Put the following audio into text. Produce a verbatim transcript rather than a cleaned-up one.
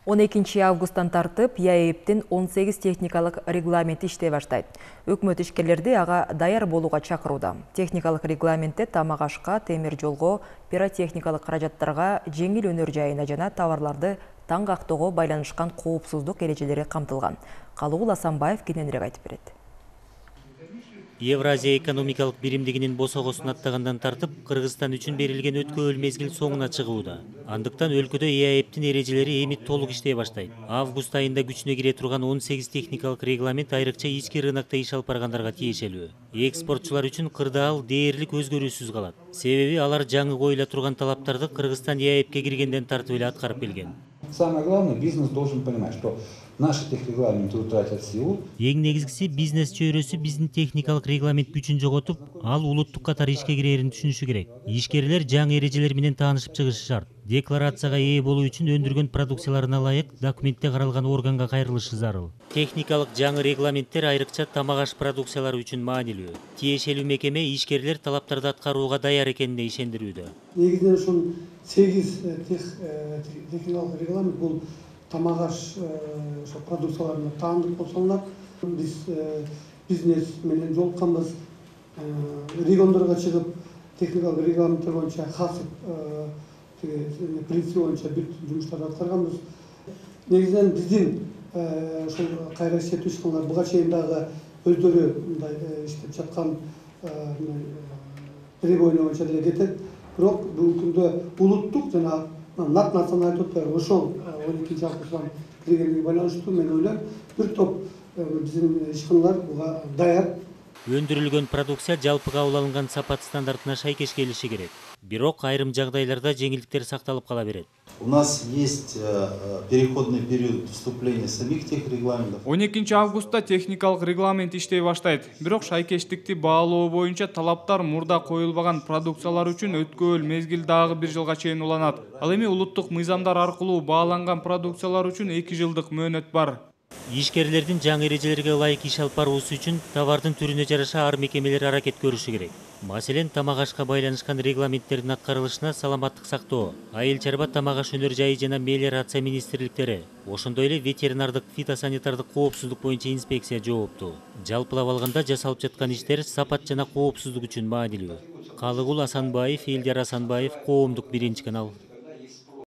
он экинчи августтан тартып ЯЭПтин он сегиз техникалык регламенти иштей баштайт. Өкмөт ишкерлерди ага даяр болууга чакырууда. Техникалык регламентте тамак ашка, темир жолго, пиротехникалык каражаттарга, жеңил өнөр жайына жана товарларды таң кактоого байланышкан коопсуздук эрежелери камтылган. Калыгул Асанбаев кененирээк айтып берет. Евразия экономикалык биримдигинин босогосун аттагандан тартып, Кыргызстан үчүн берилген өткөбөл мезгил соңуна чыгууда. Андыктан өлкөдө ЯЭПтин эрежелери эми толук иштей баштайт. Август айында күчүнө кире турган он сегиз техникалык регламент айрыкча ички рынокто иш алып баргандарга тиешелүү. Экспортчулар үчүн кырдаал дээрлик өзгөрүүсүз калат. Себеби алар жаңы коюла турган талаптарды Кыргызстан ЯЭПке киргенден тартып эле аткарып келген. Самое главное, бизнес должен понимать, что наши техрегламенты утратят силу. Эң негизгиси бизнес чөйрөсү биздин техникалык регламент күчүн жоготуп, ал улуттук катары ишке кирерин түшүнүшү керек. Ишкерлер жаңы эрежелер менен таанышып чыгышы шарт. Декларацияга ээ болуу үчүн өндүргөн продукцияларына ылайык документте каралган органга кайрылышы зарыл. Техникалык жаңы регламенттер айрыкча тамак аш продукциялары үчүн маанилүү. Тиешелүү мекеме ишкерлер талаптарды аткарууга даяр экенине ишендирүүдө. Негизинен ушул сегиз техникалык регламент бул тамак аш продукцияларына таандык болуп саналат. Биз бизнес менен жолукканбыз, региондорго чыгып техникалык регламенттер боюнча касып принцип боюнча бүт жумуштарды аткарганбыз. Негизинен биздин ошол кайра иштетүү ишканалар буга чейин дагы өздөрү мындай иштеп жаткан требование боюнча деле кетет. Бирок бүгүнкү күндө улуттук жана нат националдык айтып атпайбы, ошол он экинчи августтан киргенге байланыштуу мен ойлойм, бир топ биздин ишканалар буга даяр. Өндүрүлгөн продукция жалпы кабыл алынган сапат стандартына шайкеш келиши керек. Бирок айрым жагдайларда жеңилдиктер сакталып кала берет. У нас есть переходный период вступления самих техрегламентов. он экинчи августта техникалык регламент иштей баштайт. Бирок шайкештикти баалоо боюнча талаптар мурда коюлбаган продукциялар үчүн өткөбөл мезгил дагы бир жылга чейин уланат. Ал эми улуттук мыйзамдар аркылуу бааланган продукциялар үчүн эки жылдык мөөнөт бар. Ишкерлердин жаңы эрежелерге ылайык иш алып баруусу үчүн товардын түрүнө жараша ар мекемелер аракет көрүшү керек. Маселен, тамак ашка байланышкан регламенттердин аткарылышына саламаттык сактоо, айыл чарба тамак аш өнөр жайы жана мелиорация министрликтери, ошондой эле ветеринардык фитосанитардык коопсуздук боюнча инспекция жооптуу. Жалпылап алганда жасалып жаткан иштер сапат жана коопсуздук үчүн маанилүү. Калыгул Асанбаев, Элдер Асанбаев, Коомдук биринчи канал.